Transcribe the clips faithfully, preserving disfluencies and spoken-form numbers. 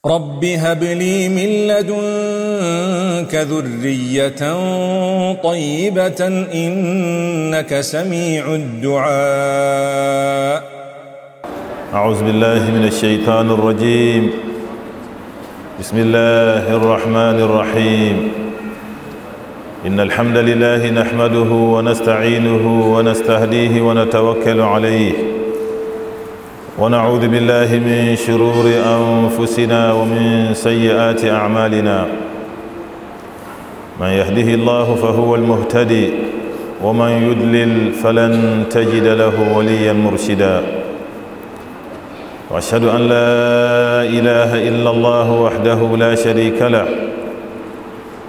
رب هب لي من لدنك ذرية طيبة إنك سميع الدعاء. أعوذ بالله من الشيطان الرجيم. بسم الله الرحمن الرحيم. إن الحمد لله نحمده ونستعينه ونستهديه ونتوكل عليه، ونعوذ بالله من شرور أنفسنا ومن سيئات أعمالنا. من يهده الله فهو المهتدي، ومن يضلل فلن تجد له وليا مرشدا. وأشهد أن لا إله إلا الله وحده لا شريك له،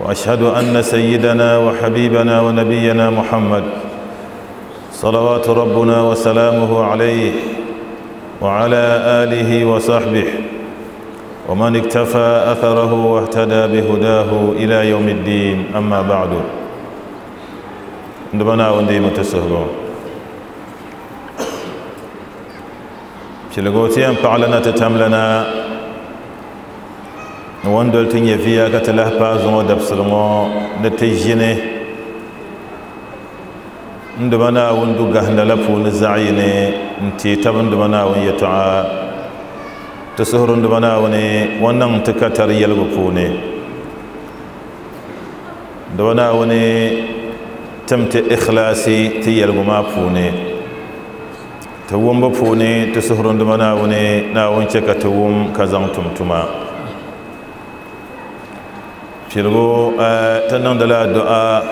وأشهد أن سيدنا وحبيبنا ونبينا محمد صلوات ربنا وسلامه عليه وعلى آله وصحبه ومن اكتفى أثره واهتدى بهداه إلى يوم الدين. أما بعد، عندما وندي متسهلون شلغوتيان بعلنا تتملنا وندل تنيفيا كتله بازو دبسلمو نتجيني عندما وندو غهنا لفون زعيني nti tabin duma Naawuni yɛltɔɣa ti suhuri duma Naawuni o niŋ ti ka tari yɛligu puuni. Duma Naawuni tim ti ikhlaasi ti yɛligu maa puuni, ti wumbu puuni ti suhuri duma Naawuni Naawuni chɛ ka ti wum ka zaŋ tum tuma. Piligu ti niŋdila du'a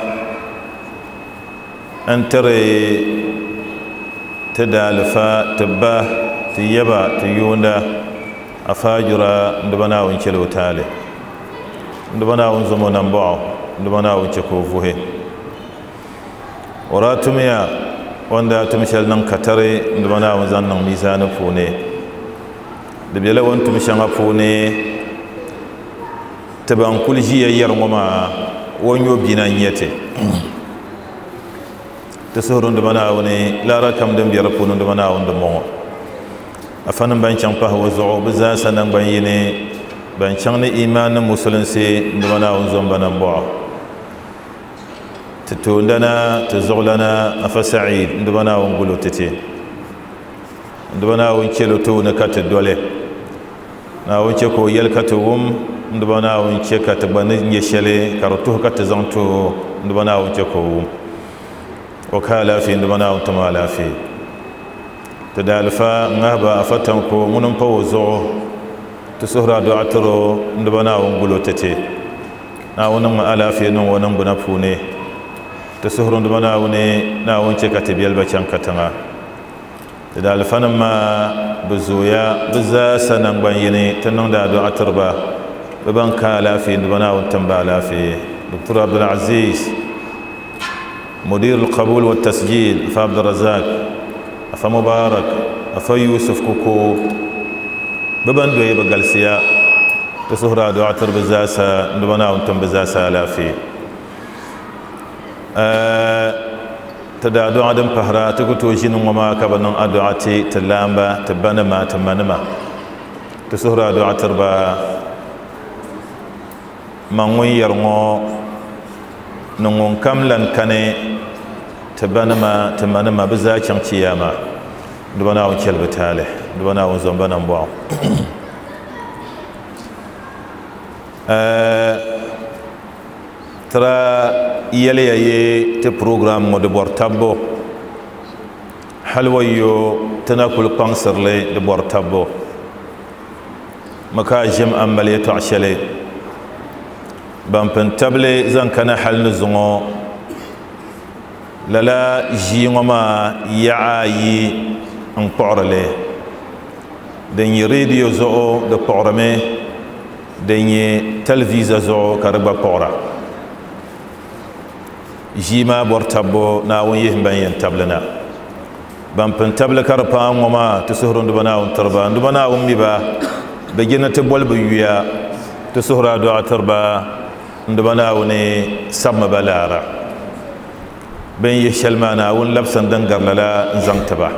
n tiri تدالفا تبا تيبا تيوندا أفاجرا دبنا ونشلو تالي دبنا ونزمو نمبعو دبنا ونشكوفوه وراتميا وندا تمشل ننكتري دبنا ونزن ميزان فوني دبيلا وانتم شنغفوني تبان كل جي يرمما ونيو بينا نيتي تسهرون دمنا وني لا ركم دم بيرفون دمنا وندمو أفنن بان شان قهوة زعو بزاسا نن بان يني بان شان إيمان مسلم سي دمنا ونزم بنبع تتوندنا تزغلنا أفسعيد دمنا ونقولو تتي دمنا ونشلو تو نكات الدولة نا ونشكو يلكتوم دمنا ونشكا تبني يشلي كرتوه كتزانتو دمنا ونشكو وكالا في عندما وتمالا في تدالفا نهبا أفتنكو منن بوزو تسهرا دعترو عندما ونقولو تتي ناونم ألا في نون ونم بنفوني تسهر عندما وني ناون شكتبيل بچان كتنا تدالفا نما بزويا بزا سنن بيني تنون دا دعتربا ببن كالا في عندما وتمبالا في دكتور عبد العزيز مدير القبول والتسجيل فعبد الرزاق فمبارك فيوسف كوكو ببندو يبقى تسهرا دعتر بزاسا دبنا وانتم بزاسا لا في أه تدعو عدم بهرا تكتو جنو وما كبنن أدعتي تلامبا تبنما تمنما تسهرا دعتر با من ويرمو نون كم لن كني تبنما تمنما بزاچن قياما دبنا ون كلب تاله دبنا ون زنبنا بوا ترى يلي يي تي بروغرام مود بور تابو حلويو تناكل قنصر لي دبور تابو مكاجم اماليه تعشلي بامبن تابلي زان كان حل نزغو لالا جيغما يعاي ان قعرلي دن راديو زو د قعرمي دن تلفزيون زو كربا قعرا جيما بورتابو ناون يهم بين تابلنا بامبن تابل كربا وما تسهرون دبنا تربا دبنا ميبا بجنة بول بيويا تسهرا دعاء تربا دبنا وني سم بلارا بين يشلمانا ون لبسن دنجر لا زنتبا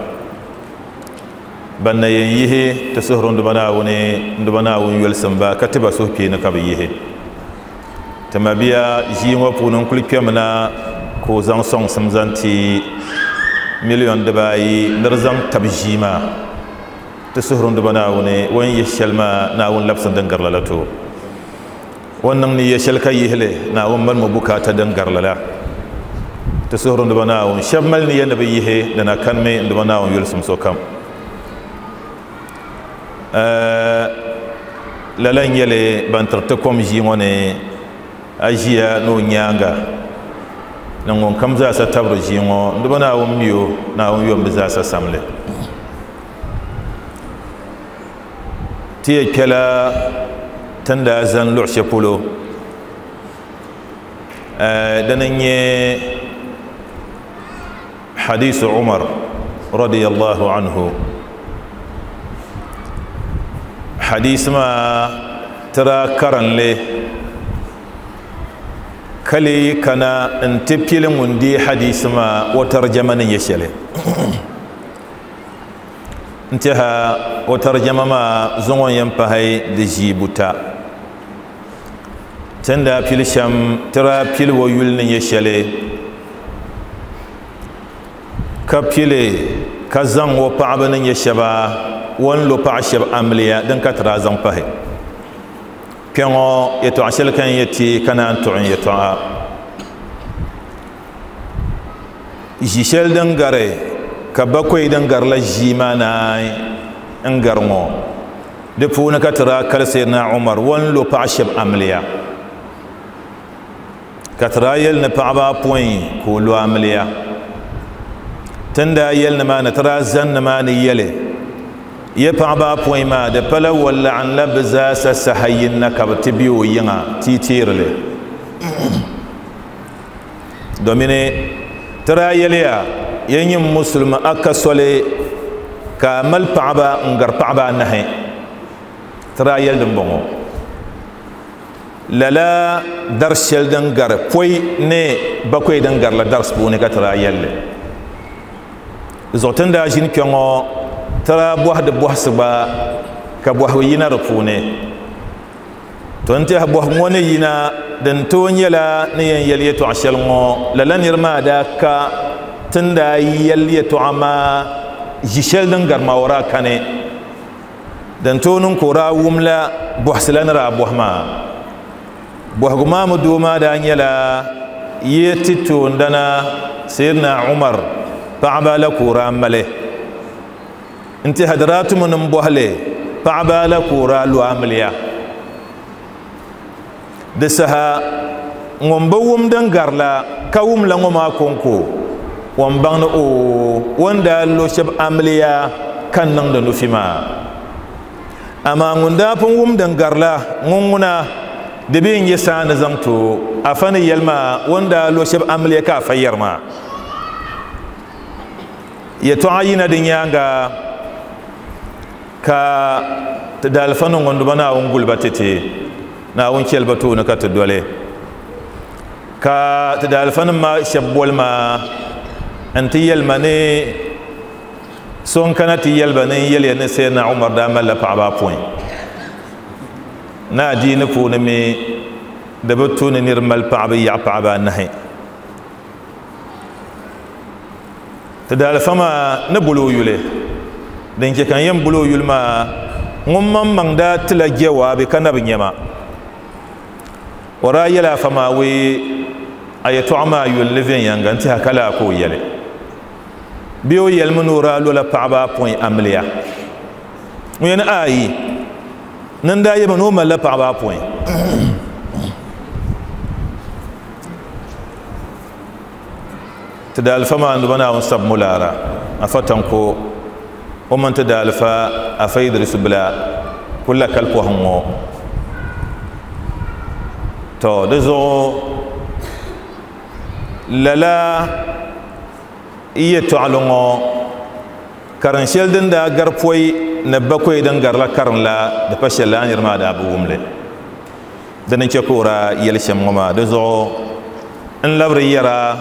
Ban na yɛn yihi ti suhuri n duba Naawuni n duba Naawuni yolisim ba ka ti ba suhupiɛlli ka bi yihi. Ti mabiya ʒii ŋɔ puuni n kuli kpɛmina ka o zaŋ sɔŋsim zaŋ ti miliyon dibaayi ni di zaŋ tabi ʒii maa. Ti suhuri n duba Naawuni o ni yihi shɛli maa Naawuni labisi din gari lala ti o. O ni niŋ niya shɛli ka yihili Naawuni malimi bukaata din gari lala. Ti suhuri n duba Naawuni shɛba mali niya ni bi yihi di na kanimi n duba Naawuni yolisim sokam. Lala n nyɛli ban tiri ti kom ʒii ŋɔ ni a ʒiya ni o nyaanga ni ŋun kam zaasa tabiri ʒii ŋɔ n duba Naawuni mi o Naawuni yom bi zaasa samli. Ti yɛ kpɛla tin daa zani luɣu shɛli polo dini n nyɛ hadisu Umar radiyallahu anhu. Hadisi maa tira karinli kali kana n ti pili ŋun deei hadisi maa o tarjama ni nyɛ shɛli. N tiɛha o tarjama maa zuŋɔ n yɛn pahi di ʒii buta. Tin daa pili shɛm tira pili o yuli ni nyɛ shɛli ka pili ka zaŋ o paɣaba ni nyɛ shɛba o ni lo paɣa shɛba amiliya din ka tira zaŋ pahi. Kpɛ ŋɔ yɛltɔɣa shɛli ka n yɛ ti ka naan tuɣi n yɛltɔɣa. Ʒi shɛli din gari ka bakoyi din gari la ʒii maa naai n gari ŋɔ di puuni ka tira kali Sayyidina Umar o ni lo paɣa shɛba amiliya ka tira yɛli ni paɣaba apɔin ka o lo amiliya. Tin daa yɛli ni maa ni tira zani ni maa ni yɛli ye paɣaba apɔin maa di pala walaɣim la bi zaasa saha yin na ka bi ti be o yiŋa ti teerili. Domini tira yɛliya ye nyim musulimi a ka soli ka mali paɣaba n gari paɣaba anahi. Tira yɛli din bɔŋɔ lala dar shɛli din gari pɔi ni bakoyi din gari la dars puuni ka tira yɛlli. Zuɣu tin daa ʒini kpɛ ŋɔ tira bɔhidi bɔhisi gba ka bɔhigu yina di puuni. To n tiɛha bɔhigu ŋɔ ni yina din tooi nyɛla ni yɛn yɛli yɛltɔɣa shɛli ŋɔ lala niri maa daa ka tin daa yɛli yɛltɔɣa maa ʒi shɛli din gari maa o daa kani. Din tooi niŋ ka o daa wum la bɔhisi la ni daa bɔhi maa. Bɔhigu maa mi doo maa daa nyɛla yi ti toondana Sayyidina Umar paɣaba la ka o daa mali. N tiɛha di daa tumi ni n bɔhili paɣaba la ka o daa lo amiliya. Di saha ŋun bi wum din gari la ka wum la ŋɔ maa kɔŋko o ni baŋ ni oo o ni daa lo shɛba amiliya ka niŋdi nufi maa. Amaa ŋun daa pun wum din gari la ŋun ŋuna di bi n nyɛ saa ni zaŋ to afa ni yɛli maa o ni daa lo shɛba amiliya ka afa yɛri maa. Yɛltɔɣa yina di nyaanga ka ti daalifa ni ŋun duba Naawuni guliba titi Naawuni chɛli ba tooni ka ti doli ka ti daalifa nim maa shɛba boli maa n ti yɛli ma ni so n kana ti yɛli ba ni n yɛliya ni Sayyidina Umar daa malila paɣaba apɔin. Na adiini puuni mi di bi tu ni niri mali paɣaba yaɣa paɣaba anahi. Ti daalifa maa ni boli o yuli din chɛ ka n yɛn boli o yuli maa ŋun maŋmaŋ daa tila jawaabi ka na bi nyɛ ma. O daa yɛli afa maa wee a yɛltɔɣa maa yuli ni viɛnyɛliŋga n tiɛha ka laa ka o yɛli. Bee o yɛlimi ni o daa lola paɣaba apɔin amiliya. Ŋun yɛli ni ayi ni n daa yɛmi ni o malila paɣaba apɔin. Ti daalifa maa n duba Naawuni sabi mulaara afa tanko o mini ti daalifa afa Idrisu bila kuli la kali pɔhim ŋɔ. To di zuɣu lala yɛltɔɣali ŋɔ karin shɛli din daa gari pɔi ni bakoyi din gari la karin la di pa shɛli la niri maa daa bi wumli. Dini n chɛ ka o daa yɛli shɛm ŋɔ maa. Di zuɣu n labiri yɛra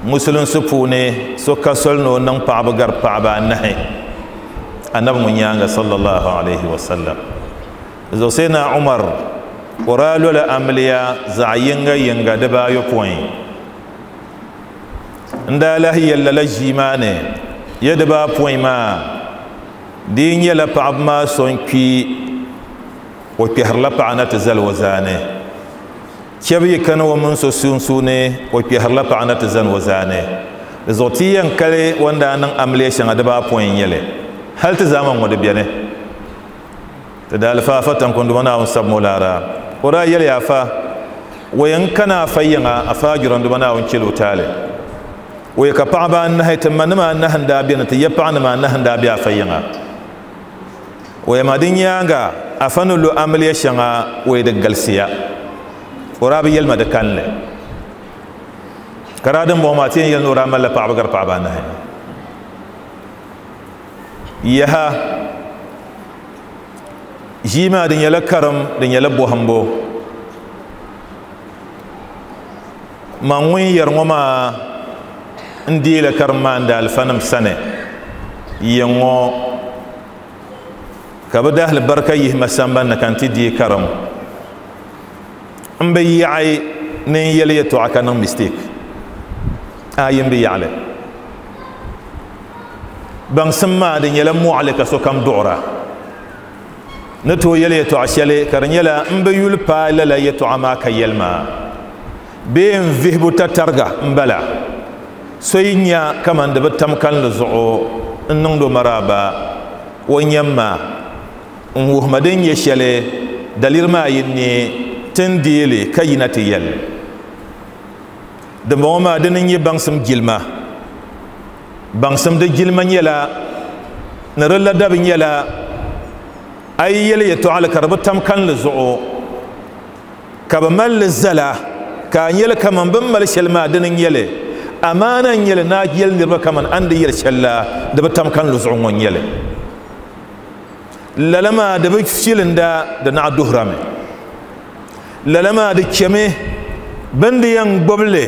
musulinsi puuni so ka soli ni o niŋ paɣaba gari paɣaba anahi. Annabi ŋun nyaanga sallallahu alaihi wasallam. Zuɣu Sayyidina Umar o daa lola amiliya zaɣ yinga yinga dibaayopɔin n daa lahi yɛli lala ʒii maa ni ya dibaapɔin maa di nyɛla paɣaba maa so n kpi o kpɛhirila paɣa na ti zali o zaani shɛba yi kana o mini so sunsuuni o kpɛhirila paɣa na ti zani o zaani di zuɣu ti yɛn kali o ni daa niŋ amiliya shɛŋa dibaapɔin n nyɛli hali ti zaamani ŋɔ di beni ti daalifa afa tankunduma Naawuni sabi mo laara o daa yɛli afa o yɛn kana afa yiŋa afa juranduma Naawuni chɛli o taali o yɛ ka paɣaba anahi ti ma nima anahi n daa beni ti ya paɣa nima anahi n daa be afa yiŋa o yɛ ma di nyaanga afa ni lo amiliya shɛŋa o yɛ di galisiya o daa bi yɛli ma di kanli ka daa din bɔŋɔ maa ti yɛn yɛli ni o daa malila paɣaba gari paɣaba anahi yaha ʒii maa di nyɛla karim di nyɛla bɔhimbu man ŋun yɛri ŋɔ maa n deela karim maa n daalifanim sani yɛn ŋɔ ka bi dahali barika yihi ma samban ni ka n ti deei karim n bi yaɣi ni n yɛli yɛltɔɣa ka niŋ mistake a yi n bi yaɣali baŋsim maa di nyɛla mɔɣili ka sokam duɣura ni tooi yɛli yɛltɔɣa shɛli ka di nyɛla n bi yuli paai lala yɛltɔɣa maa ka yɛli maa bee n vihibu tatariga n bala so yi nya kaman di bi tam kanli zuɣu n niŋdi o maraaba o nyɛm ma n wuhima din nyɛ shɛli daliri maa yi ni tin deeli ka yina ti yɛli dimbɔŋɔ maa dini n nyɛ baŋsim jilima baŋsim di jilima nyɛla ni di ladabi nyɛla a yi yɛli yɛltɔɣali ka di bi tam kanli zuɣu ka bi mali li zala ka a nyɛli kaman bin mali shɛli maa dini n nyɛli amaana n nyɛli ni a yɛli niriba kaman a ni di yɛli shɛli la di bi tam kanli zuɣu ŋɔ n nyɛli lala maa di bi filinda di naɣ duhirami lala maa di chɛmi bin di yɛn gbubili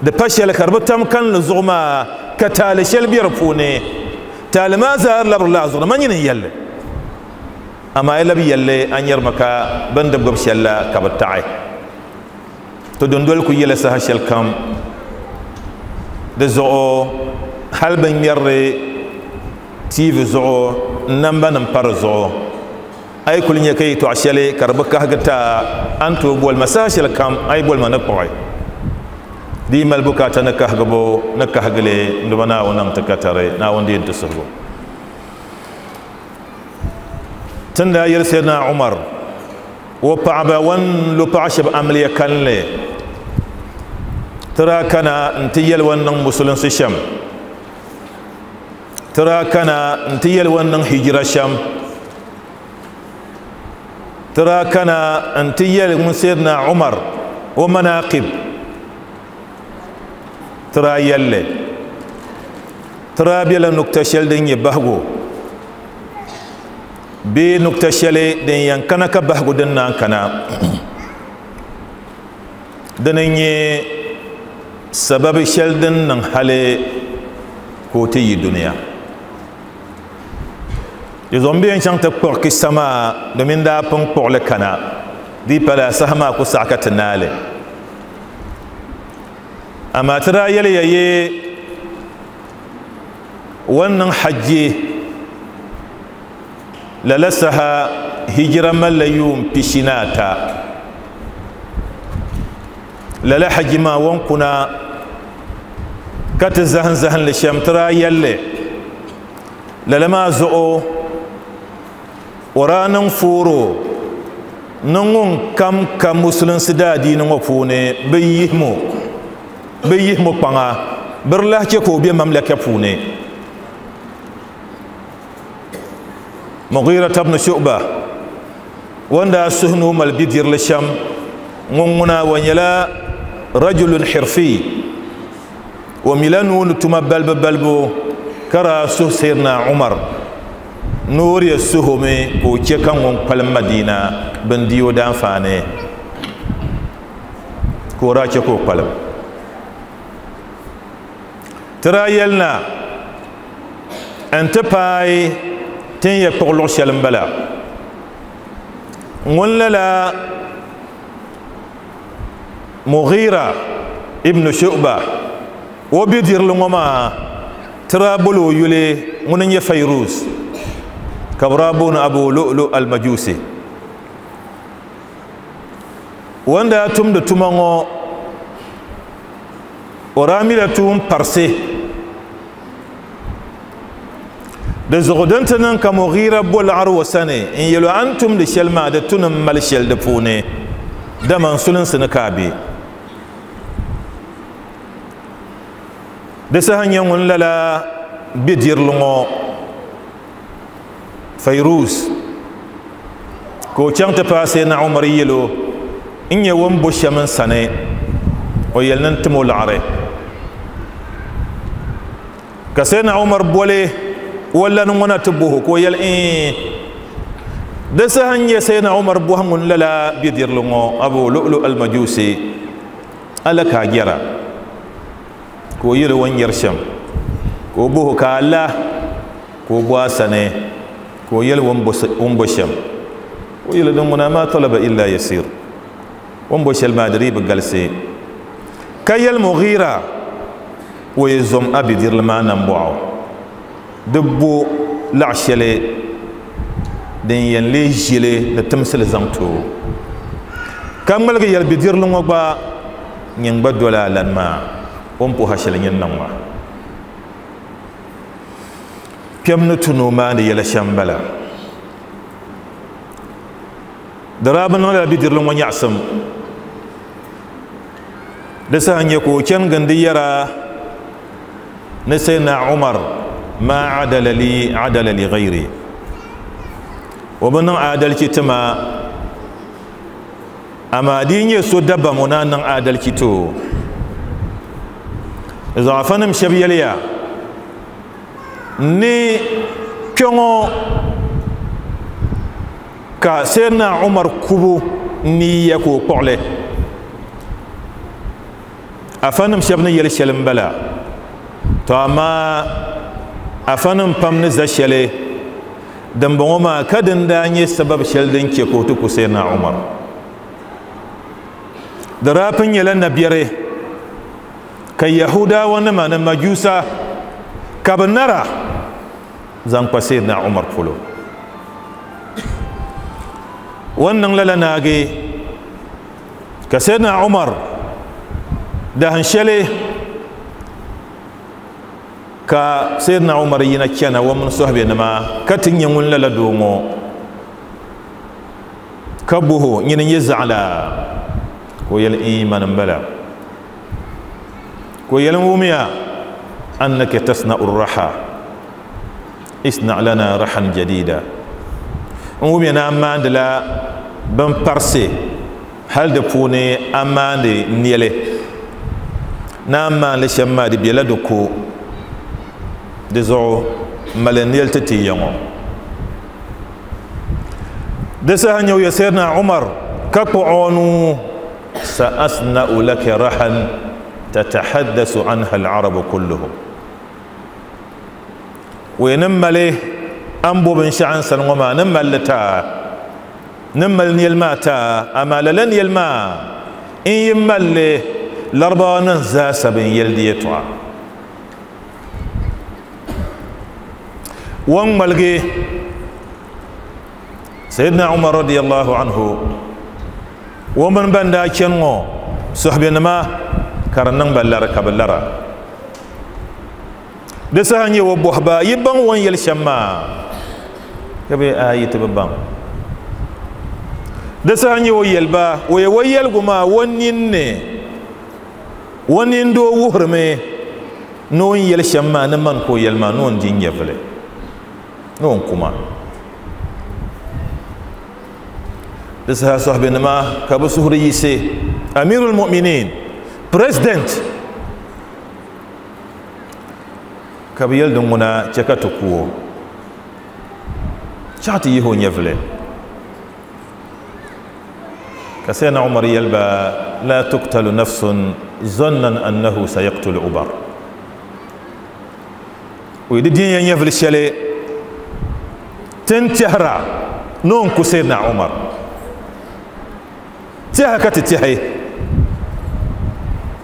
di pa shɛli ka di bi tam kanli zuɣu maa ka taali shɛli bɛ di puuni taali maa zaa labirila a zuɣu ni ma nyini n yɛlli amaa yi labi yɛlli a nyɛrimi ka bin di gbubi shɛli la ka bi taɣi to dundoli ku yɛla saha shɛli kam di zuɣu hali bin ŋmɛrili T V zuɣu namba nim pa di zuɣu a yi kuli nyɛ ka yɛltɔɣa shɛli ka di bi kahigi taa a ni tooi boli ma saha shɛli kam a yi boli ma ni kpuɣi di yi mali bukaata ni kahigibu ni kahigili n duba Naawuni niŋ ti katari Naawuni deei n ti suhigu tin daa yɛli Sayyidina Umar o paɣaba wan lo paɣa shɛba amiliya kanli ti daa kana n ti yɛli wan niŋ musulinsi shɛm ti daa kana n ti yɛli wan niŋ hijira shɛm ti daa kana n ti yɛli ŋun Sayyidina Umar o manaqib ti daa yɛlli ti daa bela nukta shɛli din nyɛ bahigu bee nukta shɛli din yɛn kana ka bahigu din naan kana dini n nyɛ sababi shɛli din niŋ hali ka o ti yi duniya di zuɣu n bɛ yɛn chaŋ ti kpuɣi kisa maa domin daa pun kpuɣili kana di pala saha maa ku saɣa ka ti naali amaa ti daa yɛli ya ye wan niŋ hajji lala saha hijira malila yuun pishi ni ata lala hajji maa wan kuna ka ti zahim zahinli shɛm ti daa yɛlli lala maa zuɣu o daa niŋ fooro ni ŋun kam ka musulinsi daadiini ŋɔ puuni bi yihimo bi yihimo kpaŋa bi di lahi chɛ ka o be mamlaka puuni Mughira ibn Shu'ba wanda suhi ni o mali bidirili shɛm ŋun ŋuna wa nyɛla rajulun hirfi o mila nuu ni tuma balibu balibu ka daa suhi Sayyidina Umar ni o di suhumi ka o chɛ ka ŋun kpalim Madina bin di o daanfaani ka o daa chɛ ka o kpalim ti daa yɛli na n ti paai Tin ya kpuɣi luɣu shɛli n bala ŋun lala Mughira ibn Shu'ba o bidirili ŋɔ maa tira boli o yuli ŋuni n nyɛ Fayruz ka bi daa booni Abu Lu'lu al-Majusi wanda tumdi tuma ŋɔ o daa mila tuun parisi di zuɣu din ti niŋ ka Mughira bo laɣari o sani n yɛli o a ni tumdi shɛli maa di tu ni n mali shɛli di puuni dama n sulinsi ni ka a be di saha nyɛ ŋun lala bidirili ŋɔ Fayruz ka o chaŋ ti paai Sayyidina Umar yɛli o n nyɛ o ni bo shɛm n sani o yɛli ni n tim o laɣari ka Sayyidina Umar boli o lani ŋɔ na ti boho ka o yɛli ee di saha n nyɛ Sayyidina Umar bohi ŋun lala bidirili ŋɔ Abu Lu'lu al-Majusi ala ka a jɛra ka o yɛli o ni nyɛri shɛm ka o boho ka a la ka o bo a sani ka o yɛli o ni bo shɛm o yɛli din ŋuna ma talaba illa yasir o ni bo shɛli maa di dii bi galisi ka yɛli Mughira o yi zom a bidirili maa nambɔɣu di bo laɣa shɛli din yɛn lee ʒili ni timsili zaŋ ti o ka ŋmaligi yɛli bidirili ŋɔ gba nyin gba dola a lani maa o ni puhi shɛli nyin niŋ maa kpɛm ni tu ni o maandi yɛla shɛm bala di daa bi niŋ lala bidirili ŋɔ nyaɣasim di saha nyɛ ka o chani gindi yɛra ni Sayyidina Umar ma adala li adala li ghayri o bi niŋ adalci ti ma amaa di nyɛ so dabam o naan niŋ adalci ti o zaɣafanim shɛba yɛliya ni kpɛŋɔ ka Sayyidina Umar kubu niya ka o kpuɣili afanim shɛba ni yɛli shɛli n bala to amaa afanim pam ni za shɛli dimbɔŋɔ maa ka din daa nyɛ sababu shɛli din chɛ ka o ti ku Sayyidina Umar di daa pun nyɛla nabiɛri ka Yahudawa nima ni Majusa ka bi nara zaŋ kpa Sayyidina Umar polo o ni niŋ lala naagi ka Sayyidina Umar dahin shɛli ka Sayyidina Umar yina chana o mini sohibe nima ka ti nyɛ ŋun lala doo ŋɔ ka boho nyini nyɛ zaɣila ka o yɛli ii mani n bala ka o yɛli n wumiya annaka tasna'u raha isna' lana rahan jadida n wumiya ni a maandila bin parisi hali di puuni a maandi nɛli ni a maandi shɛm maa di bela di ko di zuɣu mali nɛli ti ti ya ŋɔ di saha nyɛ o ya Sayyidina Umar ka kpuɣi o nuu sa'asna'u laka rahan tatahaddasu anha al-arabu kulluhum o yɛ ni mali an bo binshɛɣu n sani ŋɔ maa ni mali li taa ni mali nɛli maa taa amaa lala nɛli maa n yi mali li Larabawa nim zaa sa bin yɛli di yɛltɔɣa o ni ŋmaligi Sayyidina Umar radiyallahu anhu o mini ban daa chani ŋɔ sohibenima ka di niŋ ba lari ka bi lara di saha nyɛ o bohi ba yi baŋ o ni yɛli shɛm maa ka bi a yi ti bi baŋ di saha nyɛ o yɛli ba o yɛ o yɛligu maa o ninni o nini doo wuhirimi ni o ni yɛli shɛm maa ni mani ka o yɛli maa ni o ni di n nyɛvili ni o ni kuma di saha sohibenima ka bi suhuri yiɣisi Amirul Mu'minin president ka bi yɛli din ŋuna chɛ ka ti ku o chaɣ ti yihi o nyɛvili ka Sayyidina Umar yɛli ba la tuqtalu nafsun zannan annahu sayaqtulu Umar o yi di din ya nyɛvili shɛli Tin tɛhira ni o n ku Sayyidina Umar tɛha ka ti tɛhi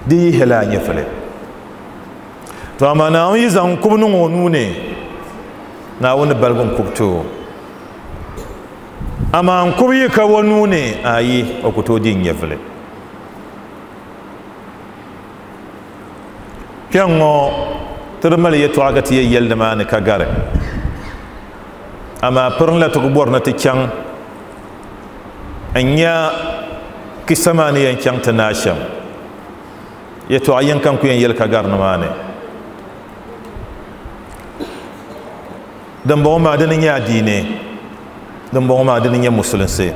di yihila a nyɛvili to amaa Naawuni yi zaŋ kubu niŋ o nuu ni Naawuni baligi n kubu ti o amaa n kubu yi ka o nuu ni ayi o ku tooi di nyɛvili kpɛŋ ŋɔ ti di mali yɛltɔɣa ka ti yɛ yɛli nimaani ka gari amaa pirinla ti ku bɔri ni ti chaŋ n nya kisa maa ni yɛn chaŋ ti naai shɛm yɛltɔɣa yini ka n ku yɛn yɛli ka gari nimaani dimbɔŋɔ maa dini nyɛ adiini dimbɔŋɔ maa dini nyɛ musulinsi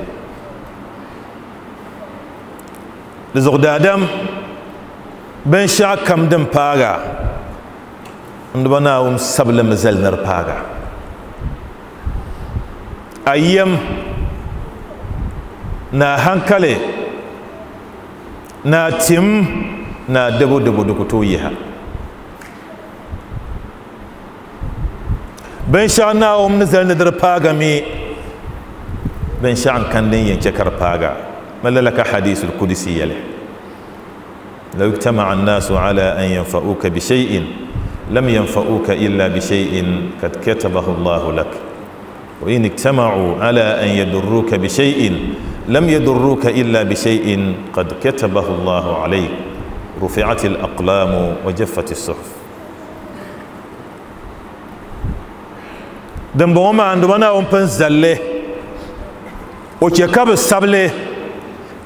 di zuɣu daadam binshɛɣu kam din paaga n diba Naawuni sabilimi zali ni di paaga a yɛm na hankali na tim na dabo dabo di ku tooi yiha binshɛɣu Naawuni ni zali ni di paaga mi binshɛɣu n kan din yɛn chɛ ka di paaga ma lala ka hadisul kudusi yɛli law ijtama'a an-nasu ala an yanfa'uka bi shay'in lam yanfa'uka illa bi shay'in kad katabahu Allahu lak wa in ijtama'u ala an yadurruka bi shay'in lam yadurruka illa bi shay'in qad katabahu Allahu alayk rufi'at al-aqlamu wa jaffat as-suhuf dimbɔŋɔ maa n duma Naawuni pun zalli o chɛ ka bi sabili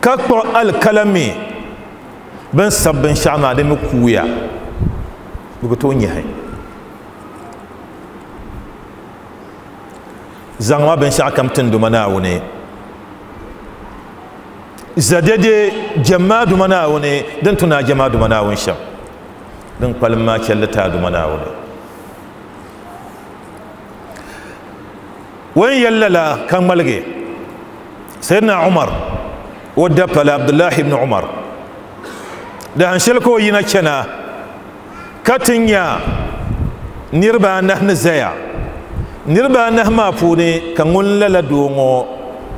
ka kpuɣi alikalami bin sabi binshɛɣu maa di mi kuuya di ku tooi nyahi zaŋma binshɛɣu kam tin duma Naawuni za dede jɛmmaa duma Naawuni din tu naa jɛmmaa duma Naawuni shɛm din kpalim maa chɛlli taa duma Naawuni wen yɛli lala ka ŋmaligi Sayyidina Umar o dapala Abdullahi ibn Umar dahan shɛli ka o yina chana ka ti nya niriba anahi ni zaya niriba anahi maa puuni ka ŋun lala doo ŋɔ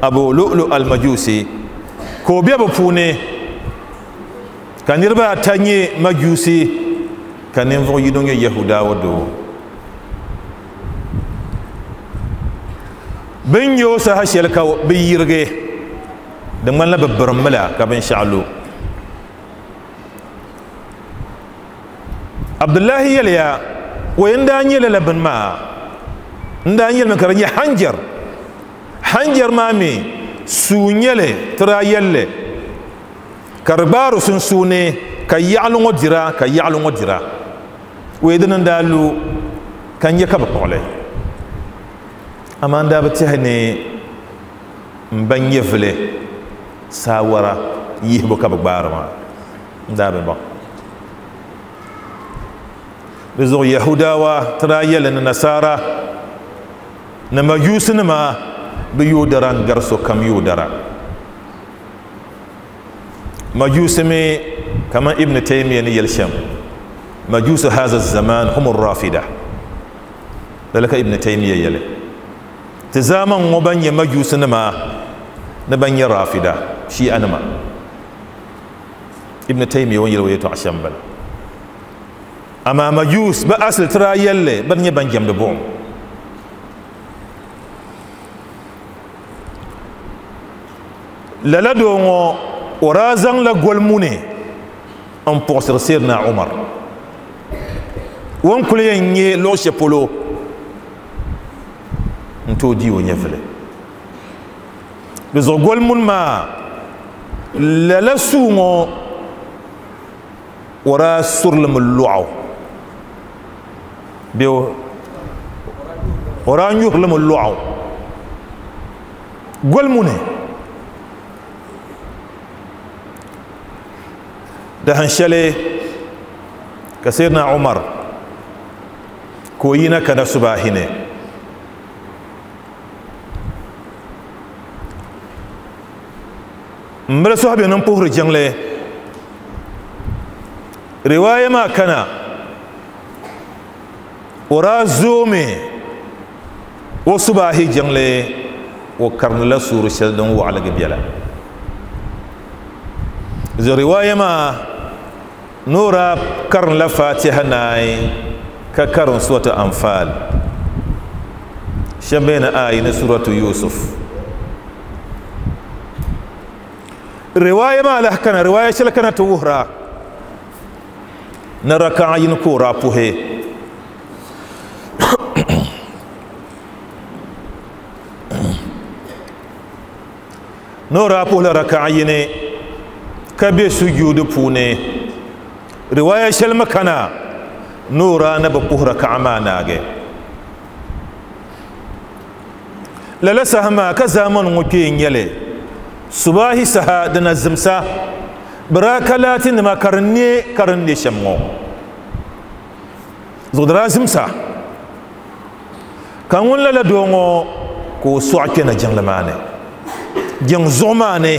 Abu Lu'lu al-Majusi ka o be bi puuni ka niriba ata nyɛ Majusi ka ninvuɣu yino nyɛ Yahudawa doo bin nyɛ o saha shɛli ka bi yirigi di ŋmanila bi birimmi la ka binshɛɣu lu Abdullahi yɛliya o yɛn daa nyɛ lala bini maa n daa nyɛlimi ka di nyɛ hanjar hanjar maa mi suu nyɛli ti daa yɛlli ka di gbaari sunsuuni ka yaɣali ŋɔ dira ka yaɣali ŋɔ dira o yɛ dini n daa lu ka n nyɛ ka bi kpuɣili amaa n daa bi tɛhi ni n ba nyɛvili saawara yihibu ka bi gbaari maa n daa bi baŋ di zuɣu Yahudawa ti daa yɛli ni Nasara ni Majusinima bi yoodara n gari sokam yoodara Majusi mi kaman Ibn Taymiya ni yɛli shɛm Majusi haza zaman hum rafida lala ka Ibn Taymiya yɛli ti zaman ŋɔ ban nyɛ Majusinima ni ban nyɛ rafida shi'anima Ibn Taymiya ŋun yɛli o yɛltɔɣa shɛm bala amaa Majus bi asili ti daa yɛlli bani nyɛ ban jɛmdi buɣum lala doo ŋɔ o daa zaŋla goli muni n puɣusiri Sayyidina Umar o ni kuli yɛn nyɛ luɣu shɛli polo n tooi di o nyɛvili di zuɣu goli muni maa lala suu ŋɔ o daa surilimi lɔɣu bee o daa nyuhirilimi lɔɣu goli muni dahin shɛli ka Sayyidina Umar ka o yina kana subahi ni n bili sɔhibi ni n puhiri jiŋli riwaaya maa kana o daa zoomi O subahi jiŋli o karinila suuri shɛli din waɣaligi biɛla zi riwaaya maa noora karinla fatiha naai ka karin suratu anfal shɛba bɛ ni ayi ni suratu yusuf riwaaya maa lahi kana riwaaya shɛli kana ti wuhira ni raka'a yini ka o daa puhi ni o daa puhila raka'a yini ka be sujuudi puuni riwaaya shɛli mi kana ni o daa na bi puhi raka'a maa naagi lala saha maa ka zaamani ŋɔ kpee n nyɛli subahi saha dina zimsa bi daa ka laatinima ka di ne ka di ne shɛm ŋɔ zuɣu di daa zimsa ka ŋun lala doo ŋɔ ka o sɔɣi kpɛna jiŋli maa ni jiŋ zuɣu maa ni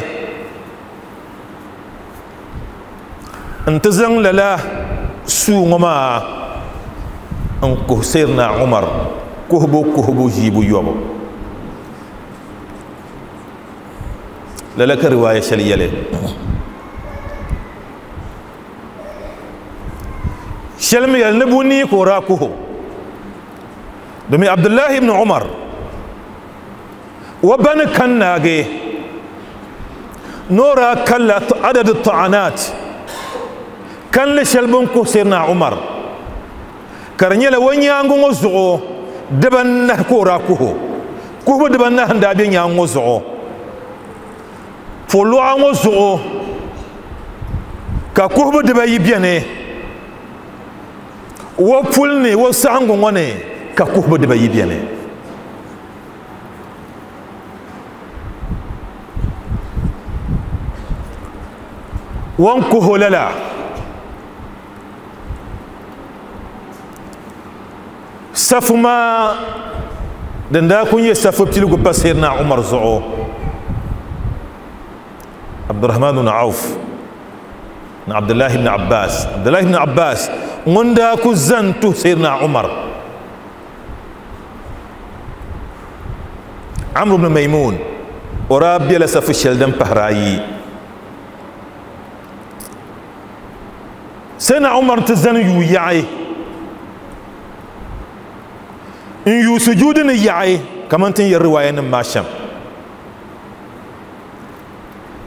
n ti zaŋ lala suu ŋɔ maa n kuhi Sayyidina Umar kuhibu kuhibu ʒiibu yɔbu lala ka riwaaya shɛli yɛli shɛli mi yɛli ni bunii ka o daa kuhi domin Abdullahi ibn Umar o ba ni kan naagi ni o daa kalla adadi ta'anat kanli shɛli bin kuhi Sayyidina Umar ka di nyɛla o nyaangi ŋɔ zuɣu dibanahi ka o daa kuhi kuhibu dibanahi n daa be nyaangi ŋɔ zuɣu poluɣa ŋɔ zuɣu ka kuhibu dibayi beni wo puli ni wo saɣangu ŋɔ ni ka kuhibu dibayi beni won kuhu lala safu maa din daa ku nyɛ safu piligu pa Sayyidina Umar zuɣu Abdurrahman ibn Auf ni Abdullahi ibn Abbas Abdullahi ibn Abbas ŋun daa ku zani tuhi Sayyidina Umar Amr ibn Maymun o daa bela safu shɛli din pahiri ayi Sayyidina Umar ti zani yuui yaɣi n yuui sujuudi ni yaɣi kamani tin yɛri riwaaya nim maa shɛm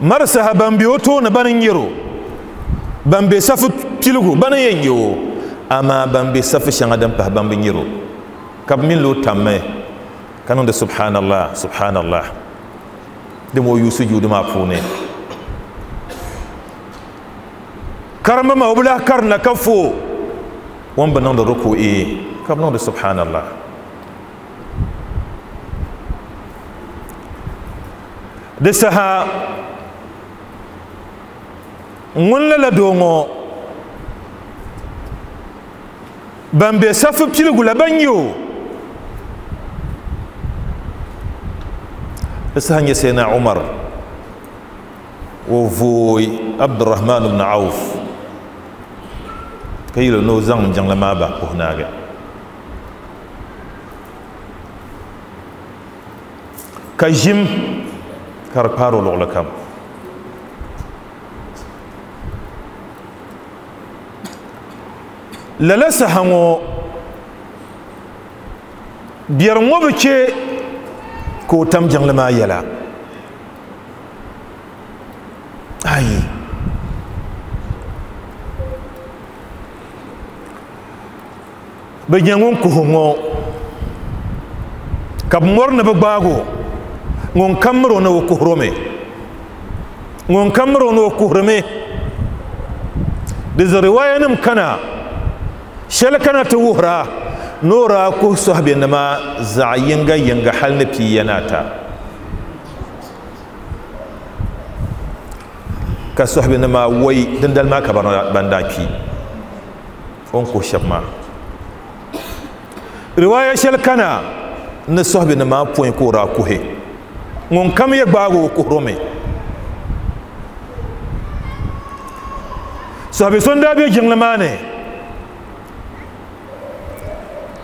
mari saha ban be o tooni bani n nyɛro ban be safu piligu bani yɛn nyɛ o amaa ban be safu shɛŋa din pahi ban bi nyɛro ka bi mini lo tammi ka niŋdi subhanallah subhanallah din o yuui sujuudi maa puuni karimba maa o bi lahi karinda ka fo o ni bi niŋdi ruku'i ka bi niŋdi subhanallah di saha ŋun lala doo ŋɔ ban be safu piligu la ban nyɛ o di saha nyɛ Sayyidina Umar o vooi Abdurrahman ibn Auf ka yɛli ni o zaŋ jiŋli maa bahi puhi naagi ka ʒim ka di kpaari o luɣuli kam lala saha ŋɔ biɛri ŋɔ bi che ka o tam jiŋli maa yɛla ayi bi nyɛ ŋun kuhi ŋɔ ka bi mɔri ni bi gbaago ŋun kam miri o ni o kuhiromi ŋun kam miri o ni o kuhirimi di riwaaya nim kana shɛli kana ti wuhira ni o daa kuhi sɔhibenima zaɣ yinga yinga hali ni pia ni ata ka sɔhibenima wai dindali maa ka ban daa kpi o ni kuhi shɛba maa riwaaya shɛli kana ni sɔhibenima pɔi ka o daa kuhi ŋun kam yɛ gbaago o kuhiromi sɔhibe so n daa be jiŋli maa ni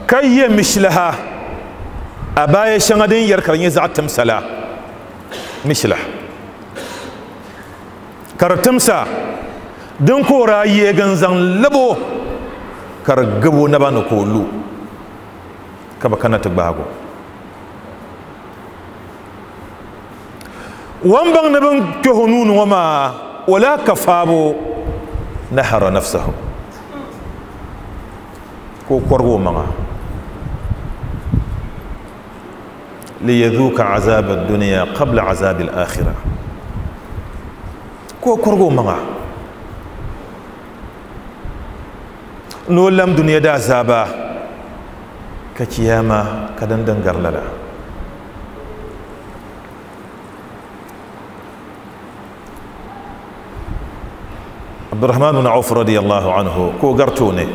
ka yɛ mishilaha A baya shɛŋa din yɛri ka di nyɛ zaɣ timsa la mishila ka di timsa din ka o daa yeegi n zaŋ labo ka di gabo naba ni ka o lu ka bi kana ti gbaago wan baŋ ni bin kpɛho nuuni ŋɔ maa wala ka faabo nahara nafsahu ka o kɔrigi o maŋa liyadhuka azab ad-dunya qabla azab al-akhirah ka o kɔrigi o maŋa ni o lam dunia daa azaaba ka kiyama ka din din gari lala Abdurrahman bin Auf radiyallahu anhu ko garto ne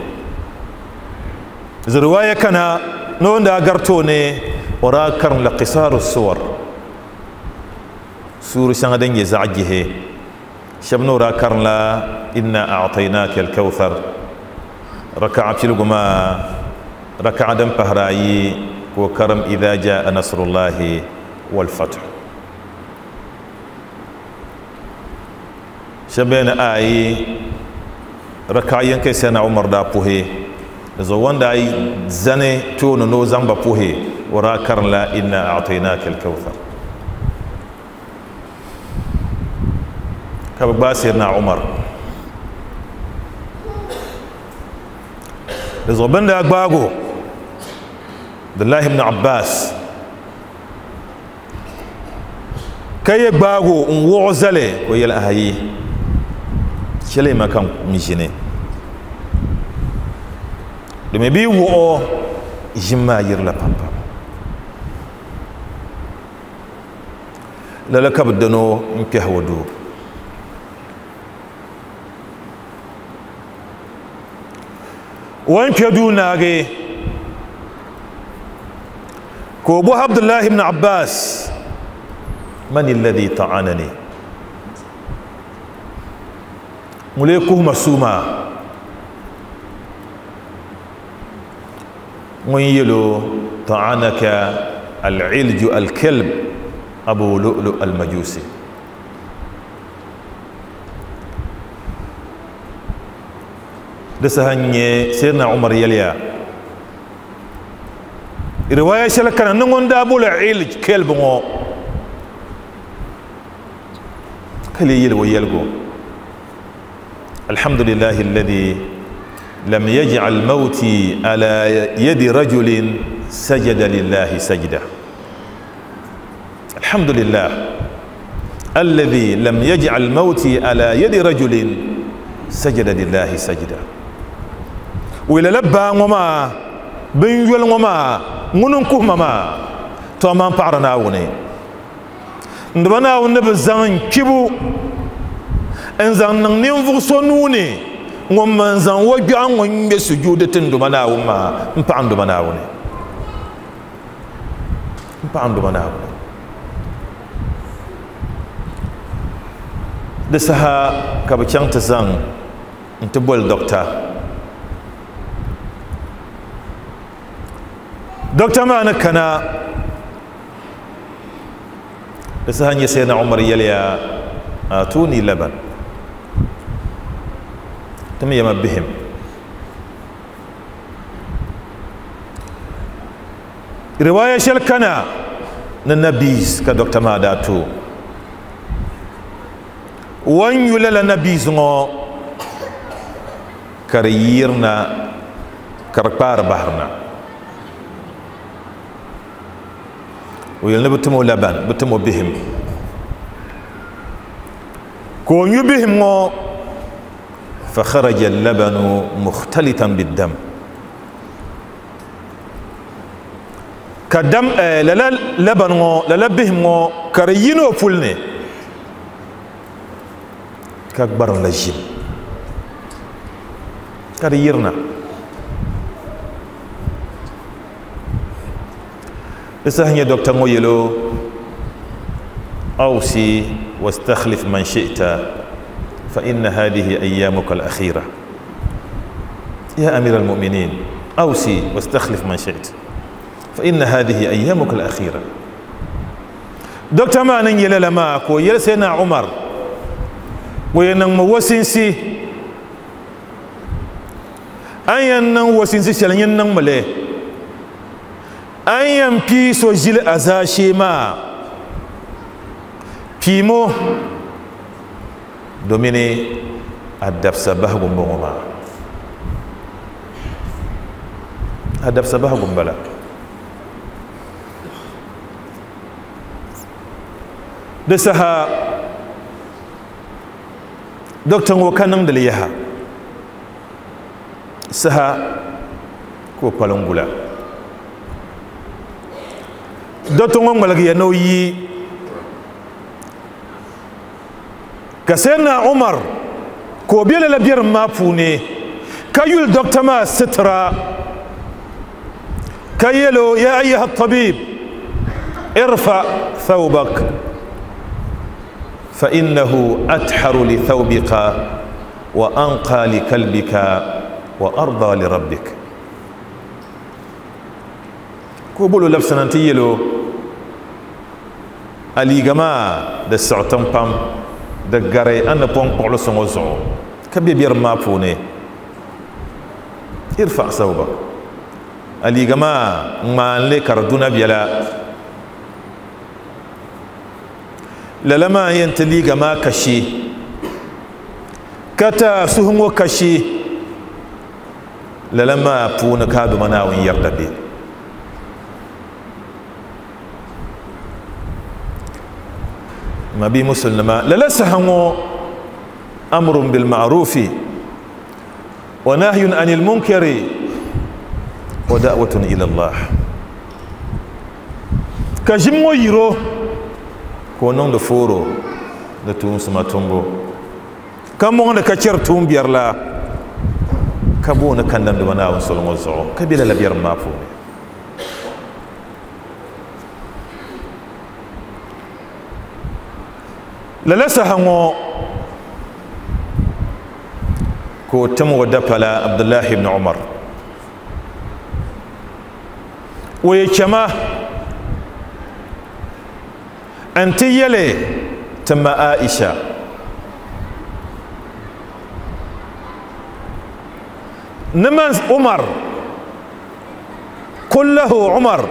riwaya kana no wanda garto ne ora karin la qisaru suwar suru shanga din ya zagihe shabno ora karin la inna a'tainaka al-kawthar raka'a pilguma raka'a dan pahrayi ko karam idha jaa nasrullahi wal fath shabena ayi raka'a yankai sai na Umar da puhe zo wanda ai zane tono no zamba puhe wara karan la inna a'tainaka al-kawthar ka ba sai na Umar zo banda gbago Abdullah ibn Abbas kai gbago n wo zale ko yel ayi chele makan mijine domin bi wo jimma yirla pampa lala ka dano n kpɛhi duu wan kpɛ duu naagi ka o bɔhi Abdullahi ibn Abbas man alladhi ta'anani ŋun kuhuma suuma ŋun yɛlo ta'anaka al-ilju al-kalb abu lu'lu al-majusi di saha n-nyɛ Sayyidina Umar yɛliya riwaya shɛli kana ni ŋun daa boli ilj kalb ŋɔ ka lee yɛli o yɛligu alhamdulillahi alladhi lam yaj'al mawti ala yadi rajulin sajada lillahi sajda alhamdulillah alladhi lam yaj'al mawti ala yadi rajulin sajada lillahi sajda wila la baa ŋɔ maa bin yoli ŋɔ maa ŋuni n kuhima maa to amaa n paɣari Naawuni n diba Naawuni ni bi zaŋ n kpibu n zaŋ niŋ ninvuɣu so nuuni ŋun man zaŋ o gbiɛɣu ŋun ŋmɛ sujuudi ti n duma Naawuni maa n paɣa n duma Naawuni n paɣa n duma Naawuni di saha ka bi chaŋ ti zaŋ n ti boli dɔkta dɔkta maa ni kana di saha nyɛ Sayyidina Umar yɛliya atuni laban tim yɛma bihim riwaya shɛli kana ni nabiz ka dɔkta maa daa to wan yu lala nabiz ŋɔ ka di yirina ka di kpaari bahirina o yɛli ni bi tim o laban bi tim o bihim ka o nyu bihim ŋɔ fa kharaja al-labanu mukhtalitan bid-dam ka dam lala laban ŋɔ lala bihim ŋɔ ka di yina o puli ni ka gbarim la ʒim ka di yirina di saha nyɛ dɔkta ŋɔ yɛlo awsi wastakhlif man shi'ta fa inna hadhihi ayyamuka al-akhira ya amira al-mu'minin awsi wastakhlif man shi'ta فإن هذه أيامك الأخيرة. دكتور ما ننجي لما كو يلسينا عمر وينن وسنسي أن ينن وسنسي شلن ينن ملي أن ينبي سجل أزاشي ما بيمو دوميني الدفس بهغم بغما الدفس بهغم بلا دسها دكتور وكانن دليها سها كو بالونغولا دكتور مالغي نوي كسينا عمر كو بيلا لبير ما فوني كيول دكتور ما سترا كيلو يا أيها الطبيب ارفع ثوبك فإنه أتحر لثوبك وأنقى لكلبك وأرضى لربك. كوبولو لبسنا تيلو ألي جماعة ده سعتم بام ده جري أنا بون قولو سنوزو كبي بير ما فوني ارفع ثوبك ألي جماعة ما لك ردنا بيلا لما ينتلي جما كشي كتا سهمو كشي لما بون كادو مناوين يردبي ما بي مسلمة للا سهمو أمر بالمعروف ونهي عن المنكر ودعوة إلى الله كجمو يرو ko non da foro da tun suma tumbo kan mo da kacer tun biyar la ka bo na kan dan da wana won solon zo ka bi la biyar ma fo la la sahango ko tamu da fala Abdullah ibn Umar waye chama أنت يلي تم عائشة نمن عمر قل له عمر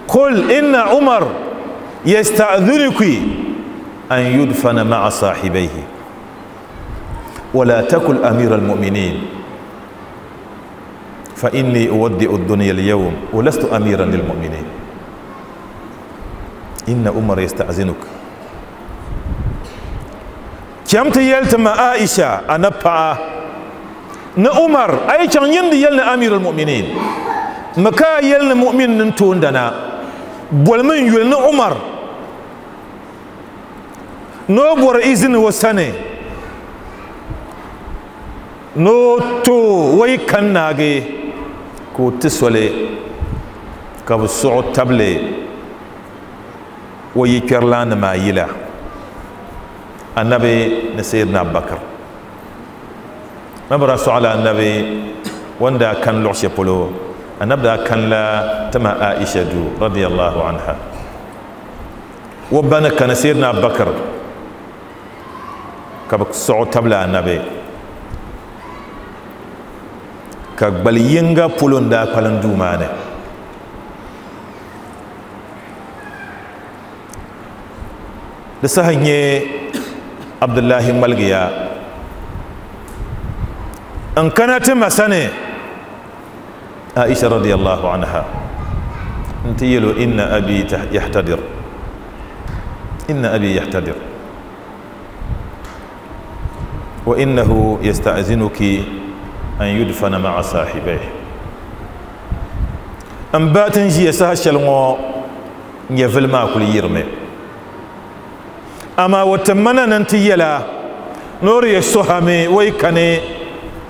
قل إن عمر يستأذنك أن يدفن مع صاحبيه ولا تكن أمير المؤمنين فإني أودئ الدنيا اليوم ولست أميرا للمؤمنين. إن عمر يستأذنك كم تيلت ما عائشة أنا با نا عمر أي كان يندي يلنا أمير المؤمنين مكا يلنا مؤمن ننتون دنا بولمن يلنا عمر نو بور إذن وسنة نو تو وي كان ناغي كو تسولي كبسو تبلي ويكرلان ما يلا النبي نسيرنا بكر ما برا سؤال النبي وندا كان لعش بولو النبي كان لا تما عائشة رضي الله عنها وبنا كان سيدنا بكر كبك سعود تبلا النبي كقبل ينغا بولون دا قلن دومانه لسهني عبد الله ملغيا ان كانت مسنه عائشة رضي الله عنها انت يلو ان ابي يحتضر ان ابي يحتضر وانه يستأذنك ان يدفن مع صاحبيه ان باتن جي سهشلمو نيفل ما كل يرمي أما وتمنى ننتيلا نور يسوهمي ويكني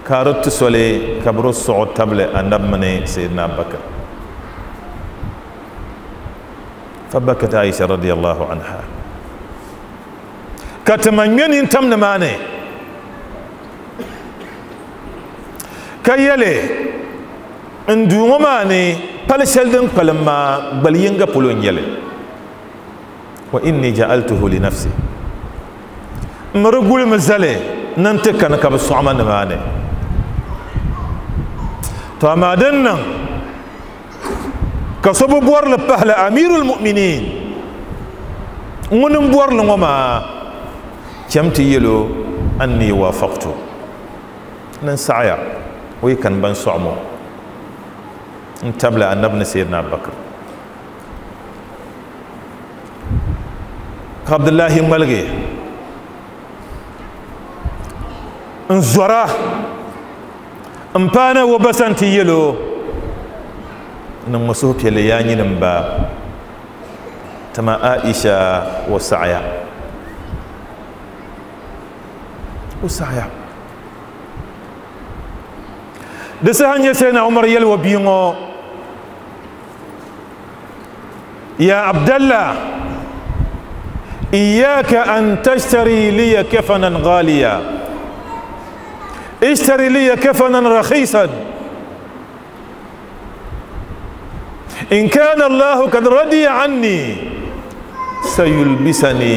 كارت سولي كبرو الصعود تبلي النبمني سيدنا بكر فبكت عائشة رضي الله عنها كتمنين انتم نماني كيالي اندو ماني pali shɛli din kpalim maa gbali yinga polo n nyɛli wa inni ja'altuhu li nafsi n mi di gulimi zali ni n ti kani ka bi sɔɣima nimaani to amaa din niŋ ka so bi bɔrili pahila amirul mu'minin ŋuni n bɔrili ŋɔ maa cham ti yɛlo anni wafaqtu ni n saɣaya o yi kani ban sɔɣimo n tabila annabi ni sayyidina Abubakar ka Abdullahi ŋmaligi n zɔra n paana wo basan ti yɛlo niŋ ma suhupiɛlli yaa nyini n ba tima Aisha o saɣaya o saɣaya di saha n nyɛ Sayyidina Umar yɛli o bia ŋɔ ya Abdallah iyyaka an tashtari liya kafanan ghaliya ishtari liya kafanan rakhisan إن كان الله قد رضي عني سيلبسني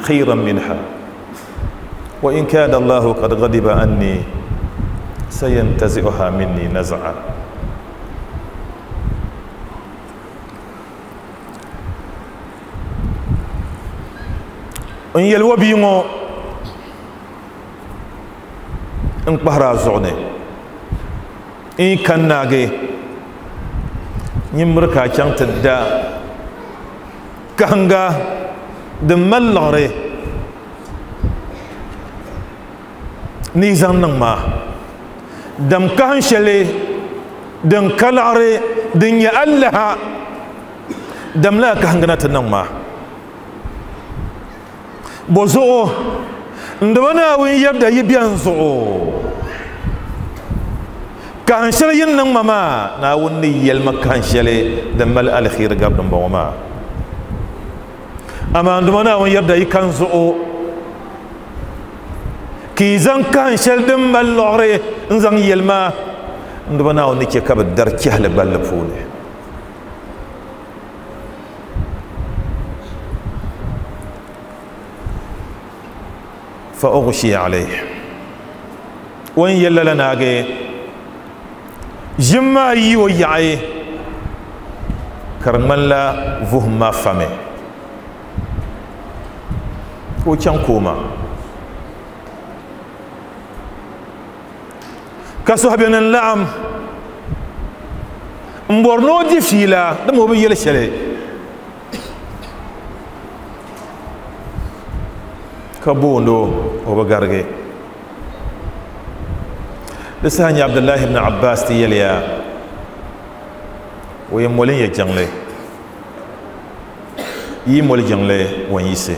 خيرا منها وإن كان الله قد غضب عني سينتزعها مني نزعا إن يلوبينو إن قهر زعني إن كان ناجي nyimri ka chaŋ ti da kahinga din mali liɣiri ni zaŋ niŋ maa dam kahin shɛli din ka liɣiri din nyɛ alaha dam laa kahinga na ti niŋ maa bo zuɣu n dama Naawuni yɛbda yi bɛni zuɣu kahin shɛli yin niŋ ma maa Naawuni ni yɛli ma kahin shɛli din mali aliheri gari dimbɔŋɔ maa amaa n dama Naawuni yɛbda yi kan zuɣu ka yi zaŋ kahin shɛli din mali liɣiri n zaŋ yɛli ma n dama Naawuni ni chɛ ka bi dari chɛhili gballi puuni fa ughshiya alayhi o ni yɛli lala naagi ʒim maa yi o yaɣi ka di ŋmanila vuhim maa fami ka o chaŋ kooma ka suhubiɛni n laɣim n bɔri ni o di fiila dama o bi yɛli shɛli ka booni o o bi garigi di saha nyɛ Abdullahi ibn Abbas ti yɛliya o yɛn moli n yɛ jiŋli yi moli jiŋli o n yiɣisi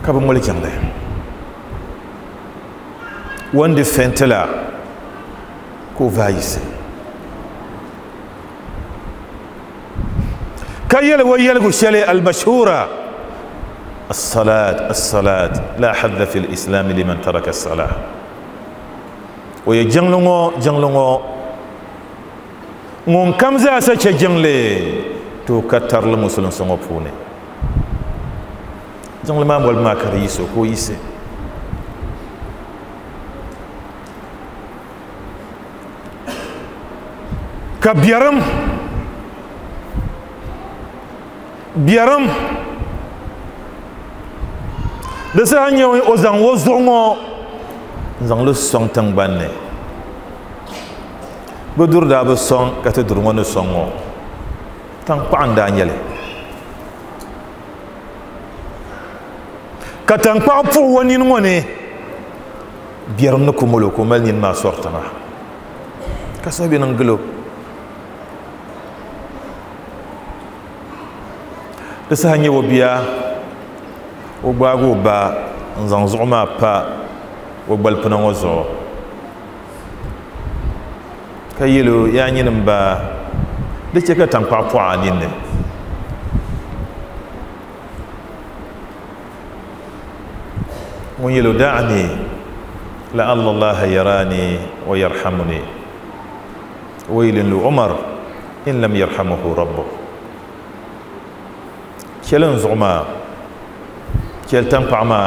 ka bi moli jiŋli o ni di fɛntila ka o vaai yiɣisi ka yɛli o yɛligu shɛli al-mashhura الصلاة الصلاة لا حظ في الإسلام لمن ترك الصلاة ويا جنلونو جنلونو ŋun kam zaasa chɛ jiŋli to ka tarili musulinsi ŋɔ puuni jiŋli maa molibu maa ka di yiɣisi o ka o yiɣisi ka biɛrim biɛrim di saha nyɛ o zaŋ o zuɣu ŋɔ n zaŋ li sɔŋ tingbanni bi duri daa bi sɔŋ ka ti duri ŋɔ ni sɔŋ ŋɔ tankpaɣu n daa nyɛli ka tankpaɣu puɣi o nini ŋɔ ni biɛrim ni ku molo ka o mali nini maa sɔri tiŋa ka suhu bɛ niŋ gilo di saha nyɛ o bia o gbaagi o ba n zaŋ zuɣu maa pa o gbalipina ŋɔ zuɣu ka yɛlo yaa nyini n ba di chɛ ka tankpaɣu pɔɣi a ninni ŋun yɛlo da'ani لعل الله يراني ويرحمني ويل لعمر إن لم يرحمه ربه كلن زعما كل تنقع ما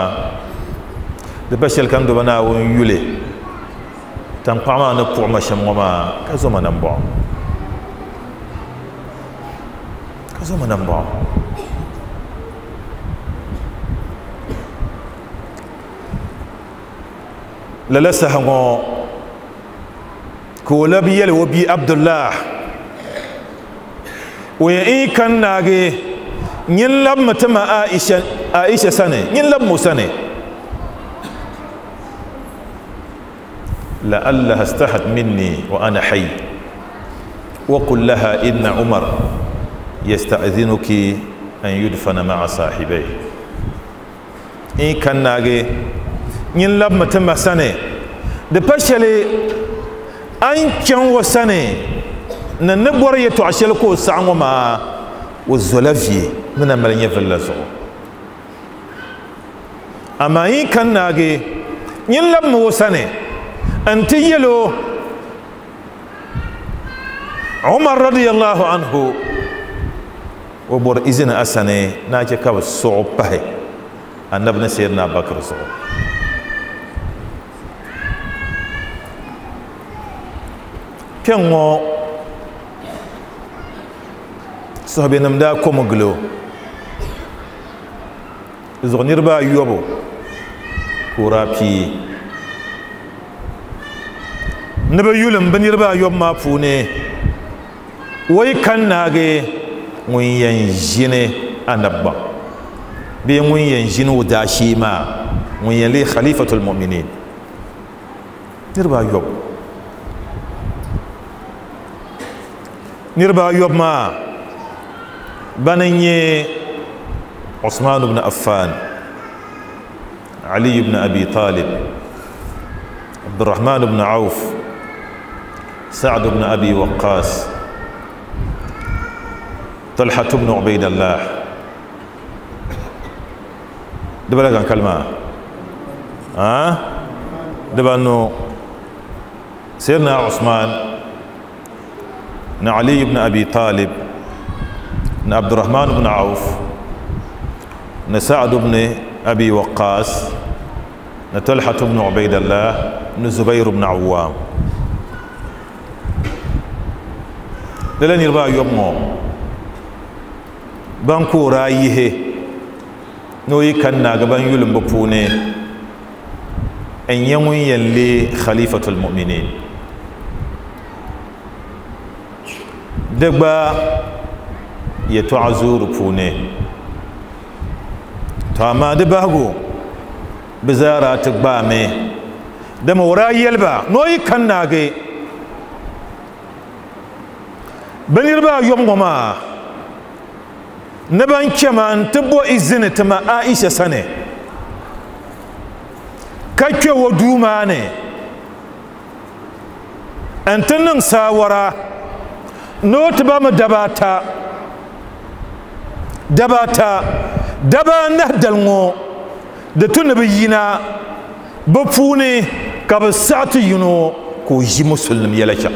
دبشل كان دبنا ويولي تنقع ما نقع ما شمما كزما نبع كزما نبع للسه كولبي وبي عبد الله وإن كان ناجي نلب متما عائشة عائشة سنة نلب مسنة لعلها استحت مني وأنا حي وقل لها إن عمر يستأذنك أن يدفن مع صاحبيه إن كان ناجي نلب متما سنة دبشلي أن كان وسنة ننبور يتعشلكو سعنما والزلفي من أمرين في الله أما إن كان ناجي نلب موسنة أنت يلو عمر رضي الله عنه وبر إذن أسنة ناجي كاب الصعوبة النبي سيدنا بكر صعوب كان صحابي نمدا كومغلو زغنير با يوبو كورابي نبا يولم بنير با يوب ما فوني وي كان ناغي ŋun yɛn ʒini anabba bee ŋun yɛn ʒini o daashee maa ŋun yɛn lee khalifatul mu'minin niriba ayɔbu niriba ayɔbu maa bani n-nyɛ Usman ibn Affan Ali ibn Abi Talib Abdurrahman ibn Auf Sa'd ibn Abi Waqqas طلحة بن عبيد الله دبلا كان كلمة ها دبا انه سيدنا عثمان علي بن ابي طالب عبد الرحمن بن عوف سعد بن ابي وقاص طلحة بن عبيد الله زبير بن عوام لن يربا يومو ban ko ra yihe no yi kan na gaban yulin ba pune an yanwun yalle khalifatul mu'minin dagba ya tu'azuru pune to amma da bago bizara ta gba me da mawara yelba no yi kan na ga banir ba yom goma naban kema n ti bo izini ti ma Aisha sani ka kpe o duu maa ni n ti niŋ saawara ni o ti ba mi daba ata daba ata daba anahi dali ŋɔ di tu ni bi yina bi puuni ka bi saɣi ti yino ka o ʒi musulinim yɛla chaŋ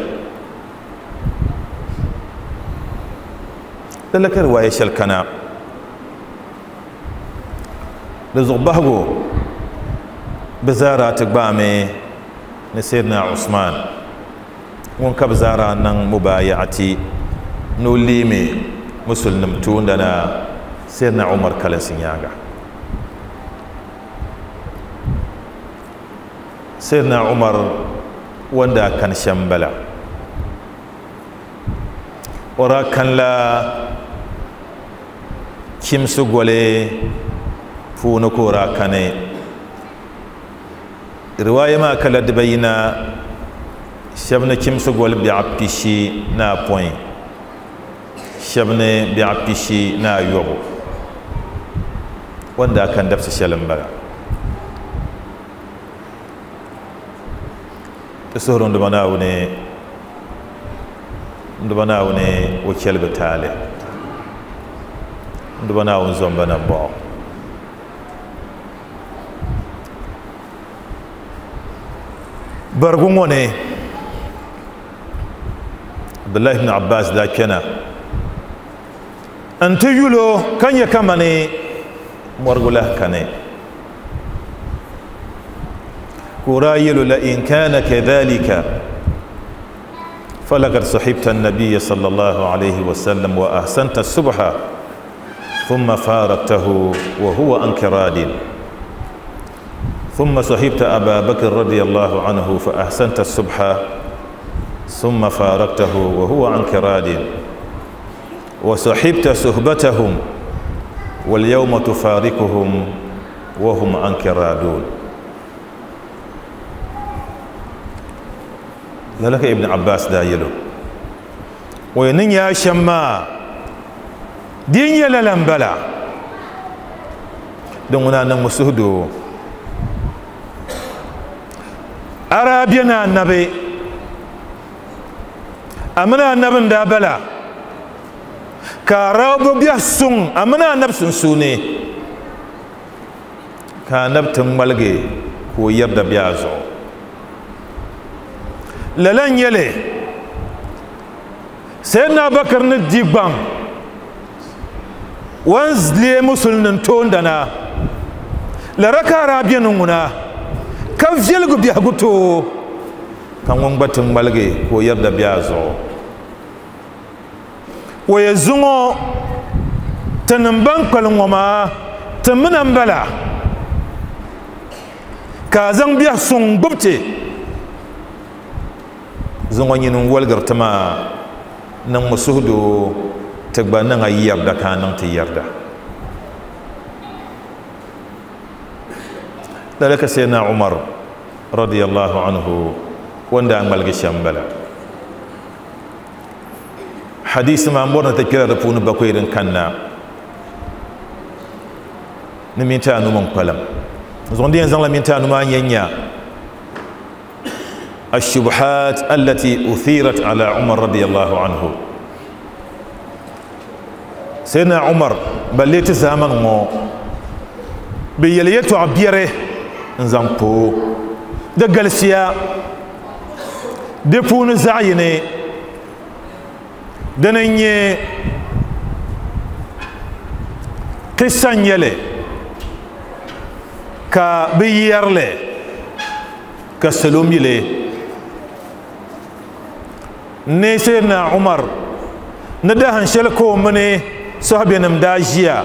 lala ka riwaaya shɛli kana di zuɣu bahigu bi zaara ti gbaami ni Sayyidina Usman ŋun ka bi zaara niŋ mubayaati ni o leemi musulinim toondana Sayyidina Umar kalinsi nyaaŋa Sayyidina Umar wanda kan shɛm bala o daa kan la kimsi goli puuni ka o daa kani riwaaya maa kala dibayina shɛba ni kimsi goli biɛɣu pishi ni apɔin shɛba ni biɛɣu pishi ni ayɔbu o ni daa kani dabisi shɛli m-bala ti suhuri n Duuma Naawuni n Duuma Naawuni o chɛli bi taali n Duuma Naawuni zomba nambɔɣu Barigu ŋɔ ni Abdullahi ibn Abbas daa kpɛna n ti yulo ka nyɛ kamani mɔrigu lahi kani ka o daa yɛlo la in kana kadhalika falaqad sahibta an-nabiyya sallallahu alayhi wa sallam wa ahsanta subha thumma faraktahu wa huwa anka radin ثم صحبت أبا بكر رضي الله عنه فأحسنت الصبح ثم فارقته وهو عنك راد وصحبت صحبتهم واليوم تفارقهم وهم عنك رادون. ذلك ابن عباس دايلو وينن يا شما دين يلالن بلا دون نمسهدو Arabiana annabi amina annabin da bala ka rabu biya sun amina annab sun sune ka annab tun malge ko yarda biya zo lalan yele sayyidina Bakar ni digban wan zle musulnin tondana la raka arabiana nguna ka viɛlgu biɛhigu too ka ŋun gba ti ŋmaligi ka o yɛrida biɛha zuɣu o yɛ zuŋɔ tinim ban kpalim ŋɔ maa ti mina n bala ka a zaŋ biɛhi suŋ gbubi ti zuŋɔ nyini n waligiri ti maa niŋmi suhudoo ti gba niŋ a yɛrida ka a niŋ ti yɛrida. ذلك سيدنا عمر رضي الله عنه وندا ملك شمبلا حديث ما مورنا تكرر رفون بكويرن كنا نمينتا نومن قلم زوندين زان لمينتا نوما ينيا الشبهات التي أثيرت على عمر رضي الله عنه. سيدنا عمر بليت زمن مو بيليتو عبيره n zaŋ po di galisiya di puuni zaɣ yini dini n nyɛ kisa n nyɛli ka bi yɛrili ka salo mili ni Sayyidina Umar ni dahin shɛli ka o mini sahabinim daa ʒiya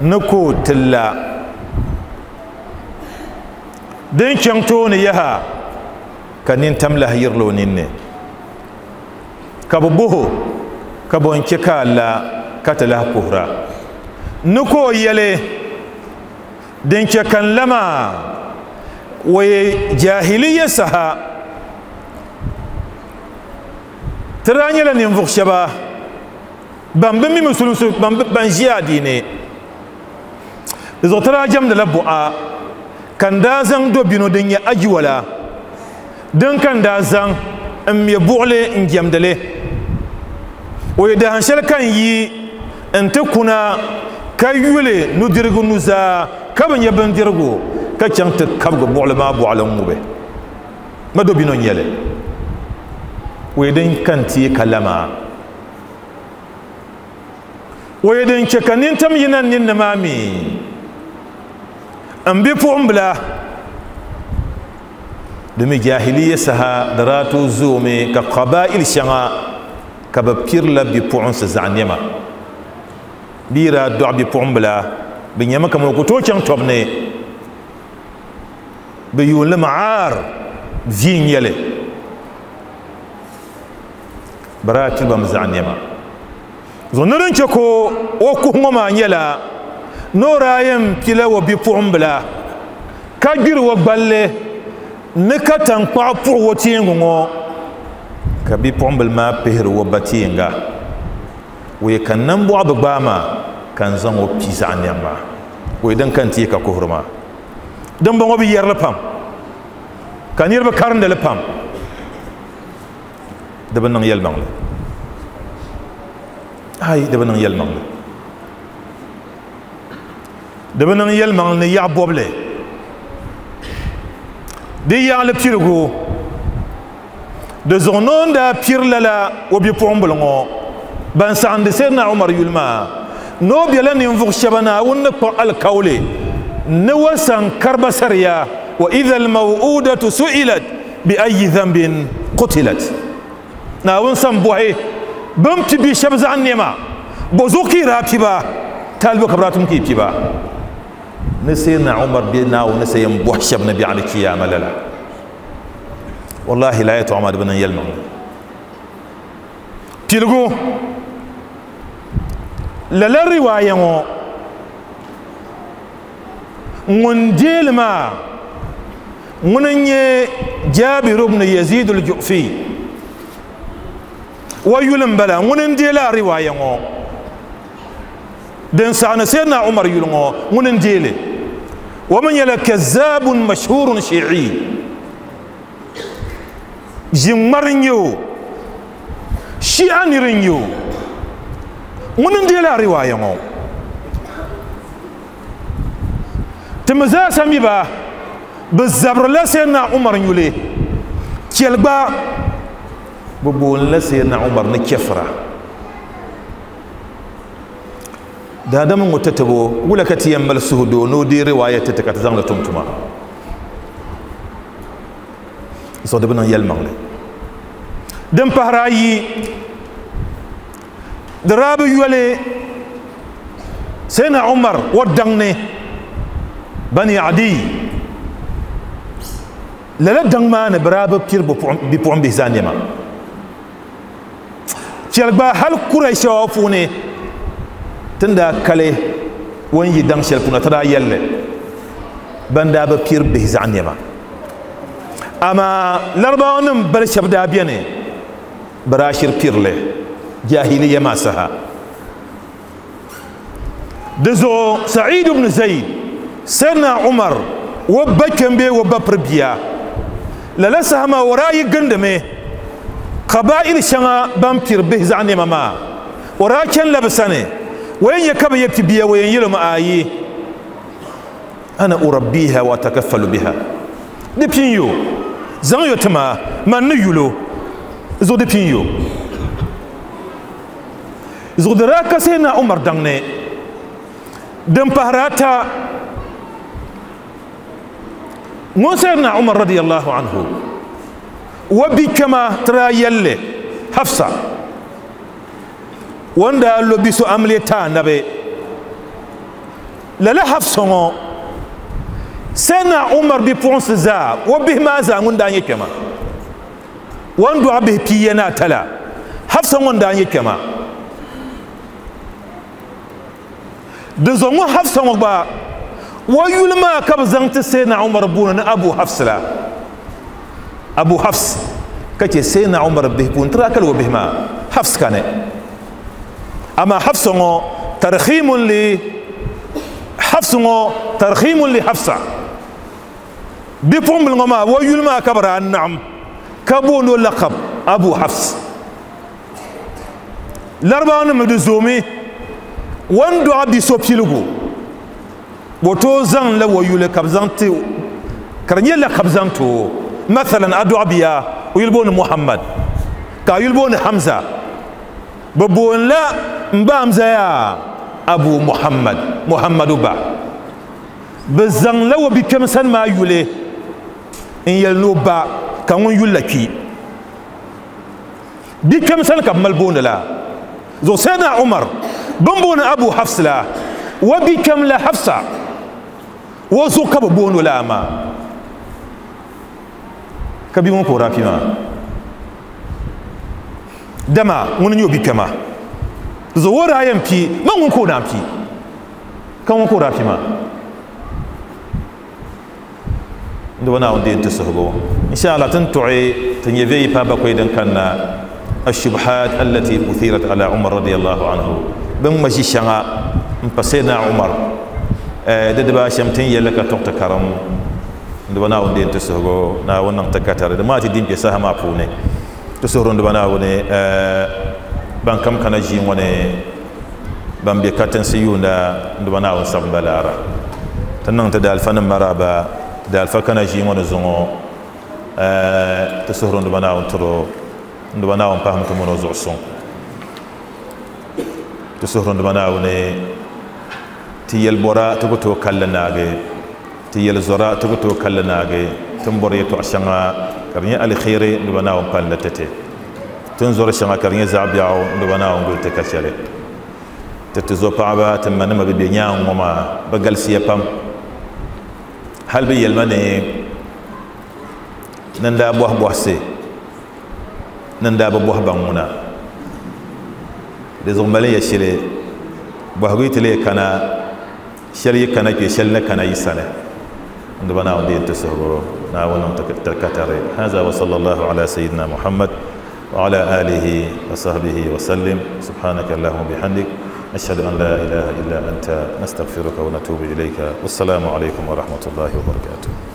ni ka o ti la din chaŋ tooni yaha ka nintam lahi yirili o ninni ka bi boho ka bo n chɛ ka a la ka ti lahi kuhura ni ka o yɛli din chɛ ka n la maa o ye jahiliya saha ti daa nyɛla ninvuɣu shɛba ban bi mi musulinsi ban ʒi adiini di zuɣu ti daa jɛmdila buɣa ka n daa zaŋ dobino din nyɛ ajiwala din ka n daa zaŋ n mɛ buɣuli n jɛmdili o ye dahin shɛli ka n yi n ti kuna ka yuli nudirigu nuzaa ka bi nyɛ bindirigu ka chaŋ ti kabigi buɣuli maa boɣali n ŋubi ma dobino n nyɛli o ye din ka n ti ka la maa o ye din chɛ ka nintam yina n ninni maa mi n bipuɣimbila domin jahiliya saha da daa tooi zoomi ka qaba'il shɛŋa ka bi pirila bipuɣinsi zaɣ nɛma bɛ daa dɔɣi bipuɣimbila bi nyɛmi kamani o ku tooi chaŋ tɔbu ni bi yuunli maar vi n nyɛli bi daa piribami zaɣ nɛma zuɣu ni din chɛ ka o kuhi ŋɔ maa nyɛla ni o daa yɛn pila o bipuɣimbila ka gbiri o gballi ni ka tankpaɣu puɣi o teengi ŋɔ ka bipuɣimbila maa pihiri o ba teenga o ye ka nambɔɣu bi gbaai maa ka n zaŋ o pi zaɣ nɛm maa o ye din ka n ti ye ka kuhiri maa dimbɔŋɔ bi yɛrili pam ka niriba karindili pam di bi niŋ yɛlimaŋli ai di bi niŋ yɛlimaŋli di bi niŋ yɛlimaŋli ni yaɣa bɔbili Di yaɣali pirigu di zuɣu noon daa piri lala o bipuɣimbili ŋɔ ban saɣindi Sayyidina Umar yuli maa ni o bela ninvuɣu shɛba Naawuni ni kpuɣi alikauli ni wa san kariba sariya wa idha almaw'udatu su'ilat bi ayi dhanbin qutilat. Naawuni san bɔhi bin pi bi shɛba zaɣ nɛma bo zuɣu ka yi daa pi ba taalibu ka bi daa tum ka yi pi ba ni Sayyidina Umar bɛ Naawuni sa yɛn bɔhi shɛba ni biɛɣuni kiyama lala. Wallahi la yɛtɔɣa maa di bi niŋ yɛlimaŋli. Piligu lala riwaaya ŋɔ ŋun deeli maa ŋuni n-nyɛ Jabir ibn Yazid al-Ju'fi wa yuli n-bala ŋuni n-deeli a riwaaya ŋɔ din saɣani Sayyidina Umar yuli ŋɔ ŋuni n-deeli wa mi nyɛla kazzabun mashhurun shi'i ʒiŋmari n-nyɛ o shi'a niri n-nyɛ o ŋuni n-deeli a riwaaya ŋɔ ti mi zaasa mi ba bi zabirila Sayyidina Umar yuli chɛli gba bi boonila Sayyidina Umar ni chɛfira daadama ŋɔ tatabo wula ka ti yɛn mali suhudoo ni o deei riwaaya ti ti ka ti zaŋli tum tuma zuɣu di bi niŋ yɛlimaŋli. Din pahiri ayi di daa bi yoli Sayyidina Umar o daŋ ni Bani Adi lala daŋ maa ni bi daa bi piri bipuɣimbihi zaa nɛma chɛli gba hali Qurayshawa puuni tin daa kali o ni yi daŋ shɛli puuni ti daa yɛlli ban daa bi piri bihi zaɣ nɛma amaa Larabawa nim bali shɛba daa bɛni bi daa shiri pirili jahiliya maa saha. Di zuɣu Sa'id ibn Zayd Sayyidina Umar o ba kpɛm bee o ba piri bia lala saha maa o daa yi gindimi qaba'il shɛŋa ban piri bihi zaɣ nɛma maa o daa chani la bi sani o yɛn nyɛ ka bi yɛ pi bia o yɛn yɛlimi ayi ana urabbiha wa atakaffalu biha di pin yo zaŋ yo ti ma man ni yulo zuɣu di pin yo zuɣu di daa ka Sayyidina Umar daŋ ni. Din pahiri ata ŋun Sayyidina Umar radiyallahu anhu wa bi kpɛma ti daa yɛlli Hafsa wanda lo bi so amiliya ti anabi lala Hafsa ŋɔ Sayyidina Umar bipuɣinsi zaa o bihi maa zaa ŋun daa nyɛ kpɛma o ni dɔɣi bihi pia ni ata la Hafsa ŋun daa nyɛ kpɛma di zuɣu ŋɔ Hafsa ŋɔ gba o yuli maa ka bi zaŋ ti Sayyidina Umar booni ni Abu Hafs la Abu Hafs ka chɛ Sayyidina Umar bihi puuni ti daa kali o bihi maa Hafs kani amaa Hafsa ŋɔ tarkhimun li Hafs ŋɔ tarkhimun li Hafsa bipuɣimbili ŋɔ maa o yuli maa ka bi daa naɣim ka booni o laqab Abu Hafs. Larabawa nim di zoomi o ni dɔɣi bi so piligu o tooi zaŋ la o yuli ka bi zaŋ ti ka di nyɛ laqab zaŋ ti o mathalan a dɔɣi bia o yuli booni Muhammad ka a yuli booni Hamza bi booni la n ba Hamza yaa Abu Muhammad Muhammadu ba bi zaŋ la o bi kpɛm sani maa yuli n yɛli ni o ba ka ŋun yuli la kpi bi kpɛm sani ka bi mali booni la zuɣu Sayyidina Umar bin booni Abu Hafs la o bi kpɛm la Hafsa o zuɣu ka bi booni o la maa ka bia ŋɔ ka o daa pi maa dama ŋuni n nyɛ o bi kpɛma zuɣu o daa yɛn pi man ŋun ka o naan pi ka ŋun ka o daa pi maa n diba Naawuni deei n ti suhigu inshallah tin tuɣi ti nyɛ viɛyi paai bakɔi din kanna الشبهات التي أثيرت على عمر رضي الله عنه بن مشي شغا مبسينا عمر ددبا شمتين يلك تقت كرم دبا ناون دين تسهغو ناون نان تكاتر ما تي دين بيسا ما بوني تسهرون دبا ناون بان كم كان جي وني بان بي كاتن سيوندا دبا ناون سببلارا تنان تدال فن مرابا دال فكنا جي وني زونو Ti suhuri n duba Naawuni tiri o n duba Naawuni pahimi ti mini o zuɣu suŋ. Ti suhuri n duba Naawuni ti yɛlbɔra ti ku tooi kalli naagi, ti yɛlzɔra ti ku tooi kalli naagi, ti ni bɔri yɛltɔɣa shɛŋa ka di nyɛ aliheri n duba Naawuni palli ti ti, ti ni zɔri shɛŋa ka di nyɛ zaɣ biɛɣu n duba Naawuni guli ti ka chɛli. Ti ti zo paɣaba ti ma nima bi bɛ nyaanŋ ŋɔ maa bi galisiya pam, hali bi yɛlima ni nin daa bɔhi bɔhisi nin daa bi bɔhi baŋ ŋuna di zuɣu mali ya shɛli bɔhigu yi ti lee kana shɛli yi kana kpɛ shɛli ni kana yi sani n duba Naawuni deei ti suhigu Naawuni niŋ ti katari. Haza wa sallallahu ala sayyidina Muhammad wa ala alihi wa sahbihi wa sallim. Subhanaka allahumma bihamdik ashhadu an la ilaha illa anta nastaghfiruka wa natubu ilayka. Wassalamu alaykum wa rahmatullahi wa barakatuh.